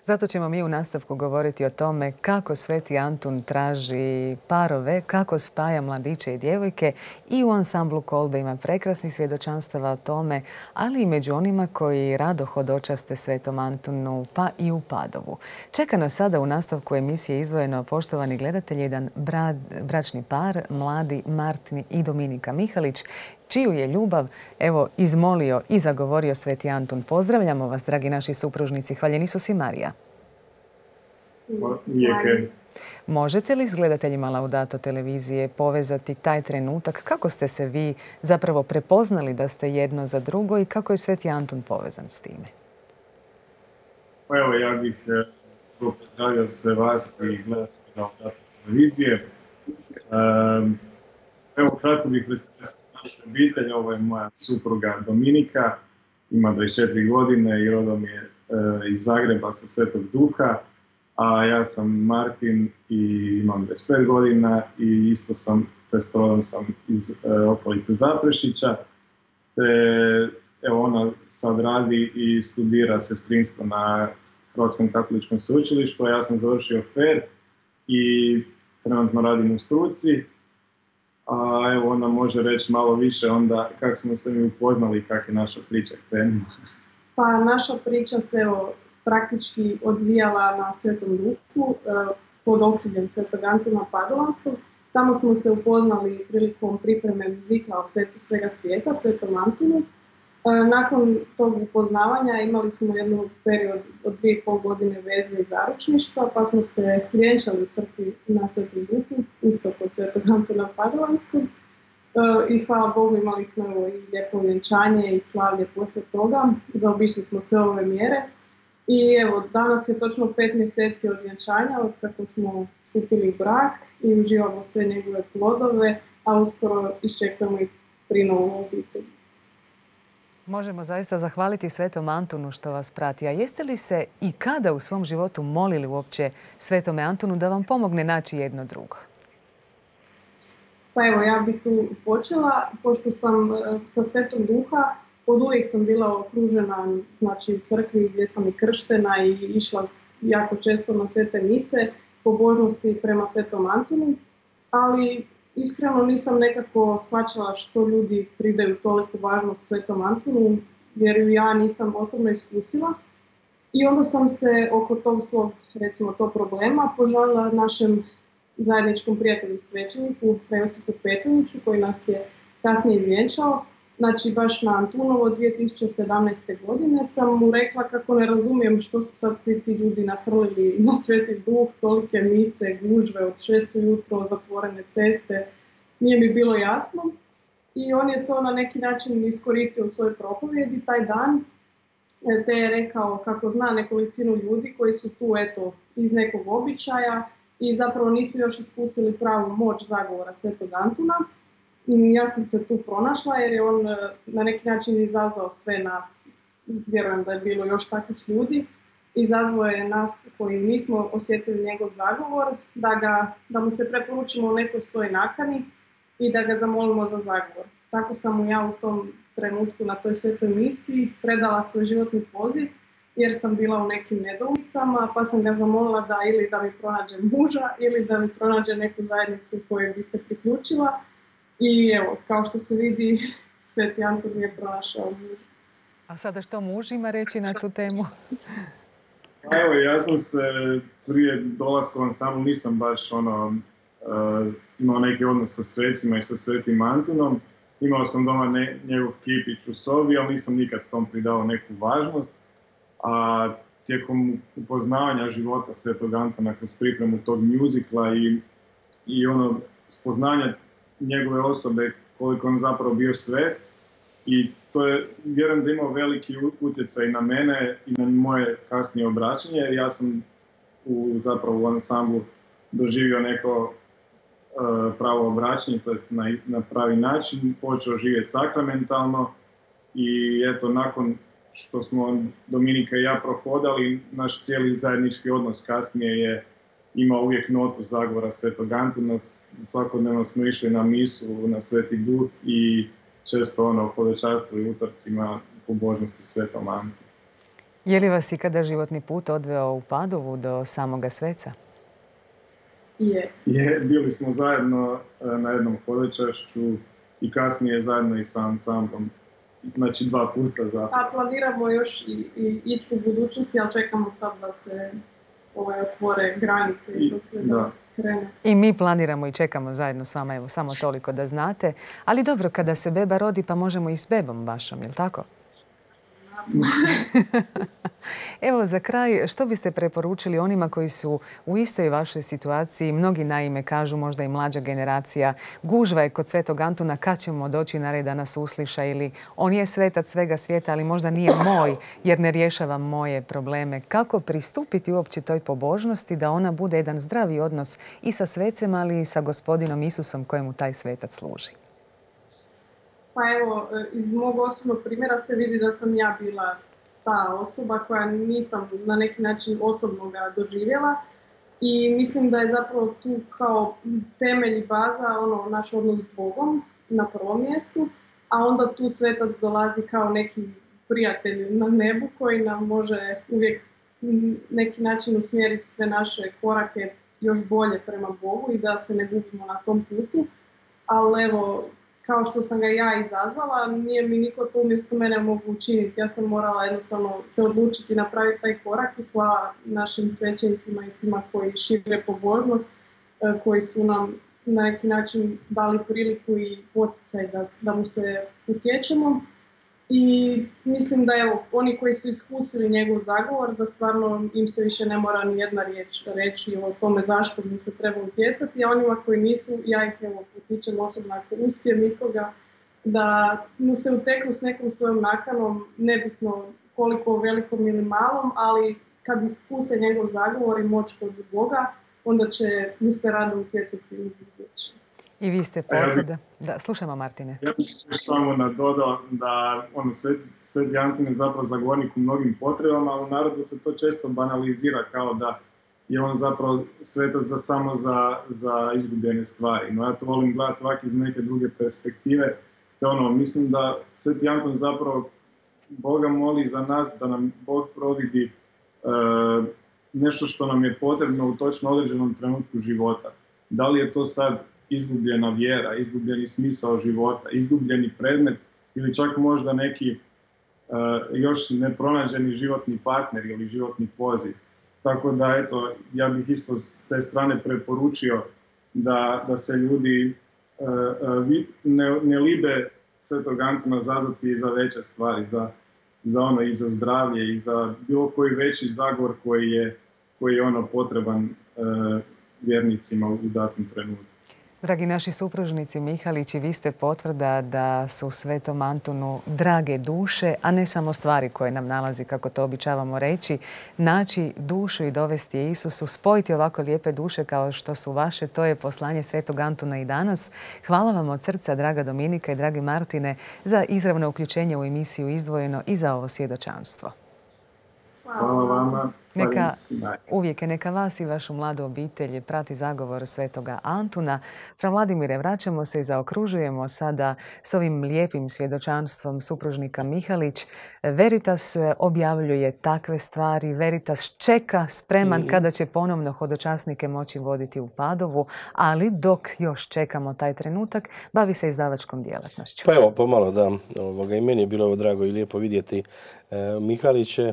Zato ćemo mi u nastavku govoriti o tome kako Sveti Antun traži parove, kako spaja mladiće i djevojke, i u ansamblu Kolbe ima prekrasnih svjedočanstava o tome, ali i među onima koji rado hodočaste Svetom Antunu, pa i u Padovu. Čeka nas sada u nastavku emisije izdvojeno, poštovani gledatelji, jedan bra, bračni par, mladi Martin i Dominika Mihalić, čiju je ljubav, evo, izmolio i zagovorio Sveti Antun. Pozdravljamo vas, dragi naši supružnici. Hvaljeni Isus i Marija. Lijeke. Možete li s gledateljima Laudato televizije povezati taj trenutak? Kako ste se vi zapravo prepoznali da ste jedno za drugo i kako je Sveti Antun povezan s time? Pa evo, ja bih pozdravio se vas i gledatelji Laudato televizije. Um, evo, kratko bih predstavio našu obitelj. Ovo je moja supruga Dominika, ima dvadeset četiri godine i rodom je uh, iz Zagreba sa Svetog Duha. A ja sam Martin i imam dvadeset pet godina i isto sam, to jest rodom sam iz e, okolice Zaprešića. Te, evo, ona sad radi i studira sestrinstvo na Hrvatskom katoličkom sveučilištu, a ja sam završio F E R i trenutno radim u struci. A evo, ona može reći malo više onda kako smo se mi upoznali i kako je naša priča krenula. Pa naša priča se, evo, praktički odvijala na Svetom Duhu pod okriljem Svetog Antuna Padovanskog. Tamo smo se upoznali prilikom pripreme muzikla o Svetu svega svijeta, Svetom Antunu. Nakon tog upoznavanja imali smo jednu period od dvije i pol godine veze i zaručništva, pa smo se vjenčali u crkvi na Svetom Duhu, isto kod Svetog Antuna Padovanskog. I hvala Bogu imali smo i lijepo vjenčanje i slavlje poslije toga. Zaobišli smo sve ove mjere. I evo, danas je točno pet mjeseci od vjenčanja, od kako smo stupili u brak i uživamo sve njegove plodove, a uskoro iščekujemo i prinovu obitelji. Možemo zaista zahvaliti Svetom Antunu što vas prati. A jeste li se i kada u svom životu molili uopće Svetome Antunu da vam pomogne naći jedno drugo? Pa evo, ja bih tu počela, pošto sam sa Svetom Duha, od uvijek sam bila okružena, znači, u crkvi gdje sam i krštena i išla jako često na svete mise, pobožnosti prema Svetom Antunu, ali iskreno nisam nekako shvaćala što ljudi pridaju toliko važnost Svetom Antunu, jer ju ja nisam osobno iskusila. I onda sam se oko tog svog, recimo, to problema požalila našem zajedničkom prijatelju svećeniku, fra Josipu Petroviću, koji nas je kasnije vjenčao. Znači, baš na Antunovo dvije tisuće sedamnaeste. godine sam mu rekla kako ne razumijem što su sad svi ti ljudi nahrlili na Sveti Duh, tolike mise, gužve od šest ujutro, zatvorene ceste. Nije mi bilo jasno. i on je to na neki način iskoristio u svojoj propovjedi taj dan, te je rekao kako zna nekolicinu ljudi koji su tu eto iz nekog običaja i zapravo nisu još iskusili pravu moć zagovora Svetog Antuna. Ja sam se tu pronašla jer je on na neki način izazvao sve nas, vjerujem da je bilo još takvih ljudi, izazvao je nas koji nismo osjetili njegov zagovor, da, ga, da mu se preporučimo u nekoj svojoj nakani i da ga zamolimo za zagovor. Tako sam mu ja u tom trenutku na toj svetoj misiji predala svoj životni poziv jer sam bila u nekim nedoumicama, pa sam ga zamolila da ili da mi pronađe muža ili da mi pronađe neku zajednicu kojoj bi se priključila. I evo, kao što se vidi, Sveti Antun je pronašao muža. A sada što muž ima reći na tu temu? Evo, ja sam se prije dolaska u ansambl nisam baš ono, uh, imao neki odnos sa svecima i sa Svetim Antunom. Imao sam doma ne, njegov kipić u sobi, ali nisam nikad tom pridao neku važnost. A tijekom upoznavanja života Svetog Antuna kroz pripremu tog mjuzikla i, i ono spoznanja njegove osobe, koliko on zapravo bio sve, i to je, vjerujem da imao veliki utjecaj na mene i na moje kasnije obraćanje, jer ja sam u, zapravo u ansamblu doživio neko uh, pravo obraćanje, to jest na, na pravi način, počeo živjeti sakramentalno i eto, nakon što smo Dominika i ja prohodali, naš cijeli zajednički odnos kasnije je imao uvijek notu zagovora Svetog Antuna. Svakodnevno smo išli na misu, na Sveti Duh i često ono hodočaštvovali utorcima pobožnosti Svetom Antunu. Je li vas ikada životni put odveo u Padovu do samoga sveca? Je. Je, bili smo zajedno na jednom hodočašću i kasnije zajedno i sa ansamblom. Znači dva puta za... A planiramo još i, i ići u budućnosti, ali čekamo sad da se ovaj, otvore granice i to sve da krene. I mi planiramo i čekamo zajedno s vama, evo, samo toliko da znate. Ali dobro, kada se beba rodi, pa možemo i s bebom vašom, je li tako? Evo, za kraj, što biste preporučili onima koji su u istoj vašoj situaciji? Mnogi naime kažu, možda i mlađa generacija, gužva je kod Svetog Antuna, kad ćemo doći na red da nas usliša, ili on je svetac svega svijeta, ali možda nije moj jer ne rješava moje probleme. Kako pristupiti uopće toj pobožnosti da ona bude jedan zdravi odnos i sa svecem, ali i sa Gospodinom Isusom kojemu taj svetac služi? Pa evo, iz mog osobnog primjera se vidi da sam ja bila ta osoba koja nisam na neki način osobno ga doživjela i mislim da je zapravo tu kao temelj i baza ono, naš odnos s Bogom na prvom mjestu, a onda tu svetac dolazi kao neki prijatelj na nebu koji nam može uvijek neki način usmjeriti sve naše korake još bolje prema Bogu i da se ne gubimo na tom putu, ali evo, kao što sam ga ja izazvala, nije mi niko to umjesto mene mogu učiniti. Ja sam morala jednostavno se odlučiti napraviti taj korak i hvala našim svećenicima i svima koji šire pobožnost, koji su nam na neki način dali priliku i poticaj da, da mu se utječemo. I mislim da evo, oni koji su iskusili njegov zagovor, da stvarno im se više ne mora ni jedna riječ reći o tome zašto mu se treba utjecati, a onima koji nisu, ja ih evo potičem osobno ako uspijem nikoga, da mu se uteknu s nekom svojom nakanom, nebitno koliko velikom ili malom, ali kad iskuse njegov zagovor i moć kod Boga, onda će mu se rado utjecati u buduće. I vi ste potvrda. Da, slušamo, Martine. Ja bih samo nadodao da ono, Sveti Antun je zapravo zagovornik u mnogim potrebama, ali u narodu se to često banalizira kao da je on zapravo svetac za, samo za, za izgubljene stvari. No ja to volim gledati ovak iz neke druge perspektive. Te ono, mislim da Sveti Antun zapravo Boga moli za nas da nam Bog providi e, nešto što nam je potrebno u točno određenom trenutku života. Da li je to sad izgubljena vjera, izgubljeni smisao života, izgubljeni predmet ili čak možda neki uh, još nepronađeni životni partner ili životni poziv. Tako da, eto, ja bih isto s te strane preporučio da, da se ljudi uh, uh, ne, ne libe Svetog Antuna zazvati i za veće stvari, za, za ono i za zdravlje i za bilo koji veći zagovor koji je, koji je ono potreban uh, vjernicima u datom trenutku. Dragi naši supružnici Mihalići, vi ste potvrda da su Svetom Antunu drage duše, a ne samo stvari koje nam nalazi, kako to običavamo reći. Naći dušu i dovesti je Isusu, spojiti ovako lijepe duše kao što su vaše, to je poslanje Svetog Antuna i danas. Hvala vam od srca, draga Dominika i dragi Martine, za izravno uključenje u emisiju Izdvojeno i za ovo svjedočanstvo. Hvala vama. Neka, uvijek je neka vas i vašu mladu obitelj prati zagovor Svetoga Antuna. Fra Vladimire, vraćamo se i zaokružujemo sada s ovim lijepim svjedočanstvom supružnika Mihalić. Veritas objavljuje takve stvari, Veritas čeka spreman mm. kada će ponovno hodočasnike moći voditi u Padovu, ali dok još čekamo taj trenutak, bavi se izdavačkom djelatnošću. Pa evo, pomalo da, ovoga, i meni je bilo ovo drago i lijepo vidjeti e, Mihaliće,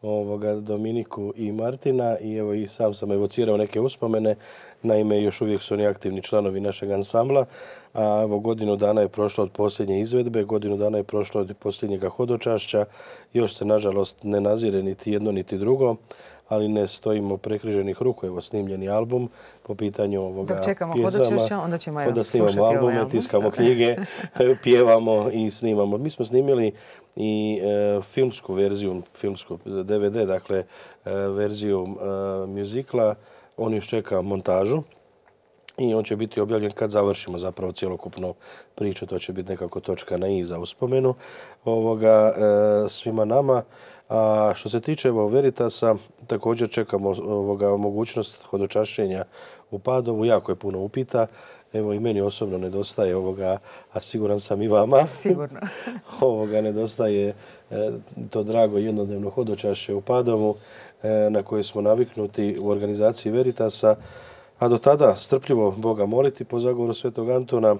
ovoga, Dominiku i Martina i evo i sam sam evocirao neke uspomene. Naime, još uvijek su oni aktivni članovi našeg ansambla, a evo godinu dana je prošlo od posljednje izvedbe, godinu dana je prošlo od posljednjega hodočašća. Još se, nažalost, ne nazire niti jedno niti drugo, ali ne stojimo prekriženih ruku. Evo, snimljeni album po pitanju ovoga Dok čekamo pjesama. hodočašća, onda ćemo evo, onda snimamo slušati albume, ovaj album. tiskamo knjige, pjevamo i snimamo. Mi smo snimili i e, filmsku verziju, filmsku D V D, dakle e, verziju e, muzikla. On još čeka montažu i on će biti objavljen kad završimo zapravo cjelokupnu priču. To će biti nekako točka na i za uspomenu ovoga, e, svima nama. A što se tiče evo, Veritasa, također čekamo ovoga, mogućnost hodočašćenja u Padovu. Jako je puno upita. Evo i meni osobno nedostaje ovoga, a siguran sam i vama. Sigurno. ovoga nedostaje e, to drago jednodnevno hodočašće u Padovu e, na koje smo naviknuti u organizaciji Veritasa. A do tada strpljivo Boga moliti po zagovoru Svetog Antuna.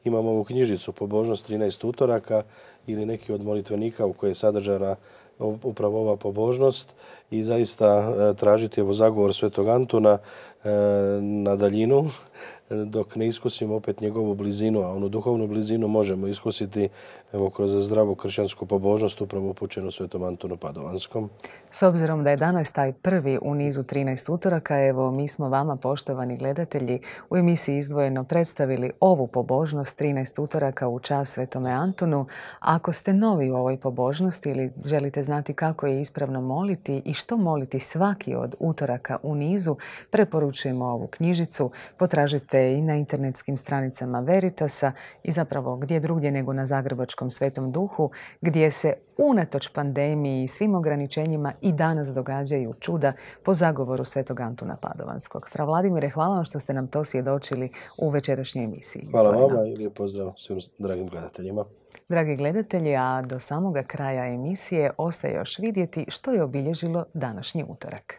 Imamo ovu knjižicu Pobožnost trinaest utoraka ili neki od molitvenika u kojoj je sadržana upravo ova pobožnost i zaista e, tražiti evo zagovor Svetog Antuna e, na daljinu dok ne iskusimo opet njegovu blizinu, a onu duhovnu blizinu možemo iskusiti evo, kroz zdravu kršćansku pobožnost upravo upućenu Svetom Antunu Padovanskom. S obzirom da je danas taj prvi u nizu trinaest utoraka, evo mi smo vama, poštovani gledatelji, u emisiji Izdvojeno predstavili ovu pobožnost trinaest utoraka u čast Svetome Antunu. Ako ste novi u ovoj pobožnosti ili želite znati kako je ispravno moliti i što moliti svaki od utoraka u nizu, preporučujemo ovu knjižicu. Potražite i na internetskim stranicama Veritasa i zapravo gdje drugdje nego na Zagrebačkom Svetom Duhu, gdje se unatoč pandemiji i svim ograničenjima i danas događaju čuda po zagovoru Svetog Antuna Padovanskog. Fra Vladimire, hvala vam što ste nam to svjedočili u večerašnjoj emisiji. Hvala vama i lijep pozdrav svim dragim gledateljima. Dragi gledatelji, a do samoga kraja emisije ostaje još vidjeti što je obilježilo današnji utorak.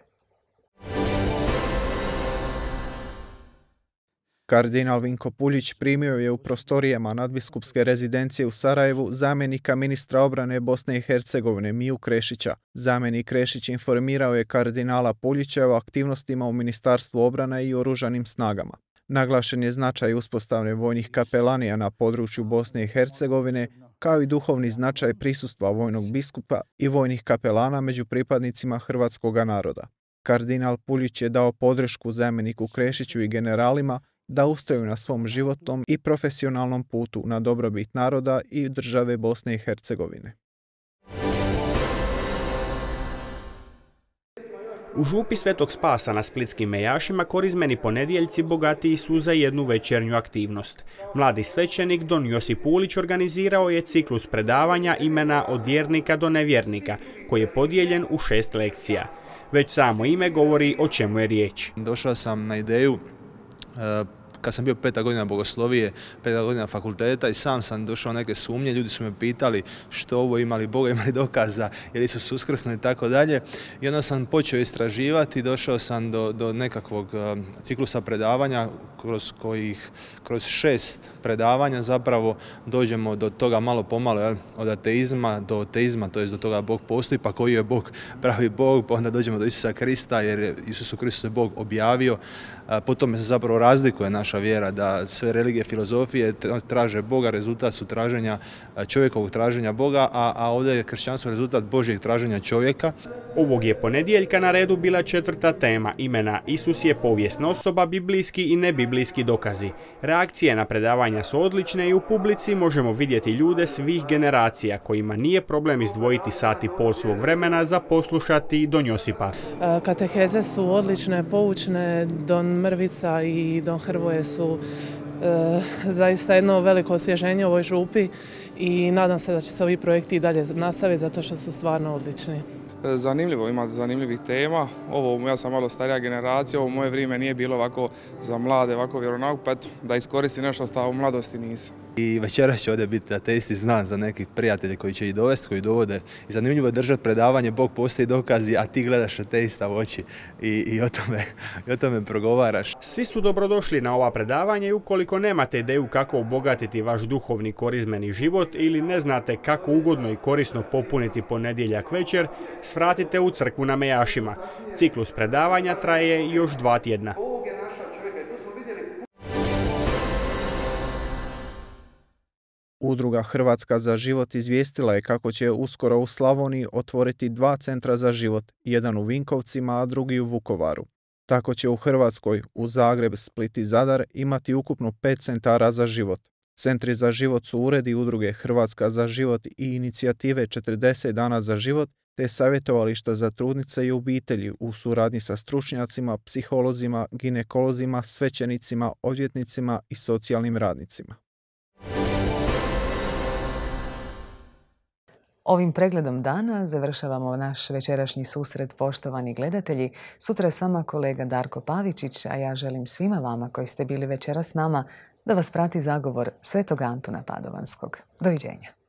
Kardinal Vinko Puljić primio je u prostorijama nadbiskupske rezidencije u Sarajevu zamjenika ministra obrane Bosne i Hercegovine Miju Krešića. Zamjenik Krešić informirao je kardinala Puljića o aktivnostima u Ministarstvu obrane i oružanim snagama. Naglašen je značaj uspostavne vojnih kapelanija na području Bosne i Hercegovine, kao i duhovni značaj prisustva vojnog biskupa i vojnih kapelana među pripadnicima hrvatskog naroda. Kardinal Puljić je dao podršku zamjeniku Krešiću i generalima da ustraju na svom životnom i profesionalnom putu na dobrobit naroda i države Bosne i Hercegovine. U župi Svetog Spasa na splitskim Mejašima korizmeni ponedjeljci bogatiji su za jednu večernju aktivnost. Mladi svećenik Don Josip Ulić organizirao je ciklus predavanja imena od vjernika do nevjernika, koji je podijeljen u šest lekcija. Već samo ime govori o čemu je riječ. Došao sam na ideju kad sam bio peta godina bogoslovije, peta godina fakulteta i sam sam došao neke sumnje, ljudi su me pitali što ovo, imali Boga, imali dokaza, je li su uskrsno i tako dalje. I onda sam počeo istraživati, došao sam do, do nekakvog ciklusa predavanja kroz kojih, kroz šest predavanja zapravo dođemo do toga malo pomalo, jel? Od ateizma do teizma, to je do toga Bog postoji, pa koji je Bog, pravi Bog, pa onda dođemo do Isusa Krista jer je Isusu Kristu se Bog objavio. Po tome se zapravo razlikuje naša naša vjera, da sve religije, filozofije traže Boga, rezultat su traženja čovjekovog traženja Boga, a, a ovdje je kršćanstvo rezultat Božjeg traženja čovjeka. Ovog je ponedjeljka na redu bila četvrta tema imena Isus je povijesna osoba, biblijski i nebiblijski dokazi. Reakcije na predavanja su odlične i u publici možemo vidjeti ljude svih generacija kojima nije problem izdvojiti sat i pol svog vremena za poslušati Don Josipa. Kateheze su odlične, poučne, Don Mrvica i Don Hrvoje su e, zaista jedno veliko osvježenje u ovoj župi i nadam se da će se ovi projekti i dalje nastaviti zato što su stvarno odlični. Zanimljivo, ima zanimljivih tema. Ovo, ja sam malo starija generacija, ovo moje vrijeme nije bilo ovako za mlade, ovako vjeronauk, pa eto, da iskoristi nešto što u mladosti nisam. I večeras će ovdje biti ateisti znan za nekih prijatelje koji će ih dovesti, koji dovode. I zanimljivo je držati predavanje, Bog postoji dokazi, a ti gledaš ateista u oči i, i, o tome, i o tome progovaraš. Svi su dobrodošli na ova predavanja i ukoliko nemate ideju kako obogatiti vaš duhovni korizmeni život ili ne znate kako ugodno i korisno popuniti ponedjeljak večer, svratite u crkvu na Mejašima. Ciklus predavanja traje još dva tjedna. Udruga Hrvatska za život izvijestila je kako će uskoro u Slavoniji otvoriti dva centra za život, jedan u Vinkovcima, a drugi u Vukovaru. Tako će u Hrvatskoj, u Zagreb, Split i Zadar imati ukupno pet centara za život. Centri za život su uredi Udruge Hrvatska za život i inicijative četrdeset dana za život, te savjetovališta za trudnice i obitelji u suradnji sa stručnjacima, psiholozima, ginekolozima, svećenicima, odvjetnicima i socijalnim radnicima. Ovim pregledom dana završavamo naš večerašnji susret, poštovani gledatelji. Sutra je s vama kolega Darko Pavičić, a ja želim svima vama koji ste bili večeras s nama da vas prati zagovor Svetog Antuna Padovanskog. Doviđenja.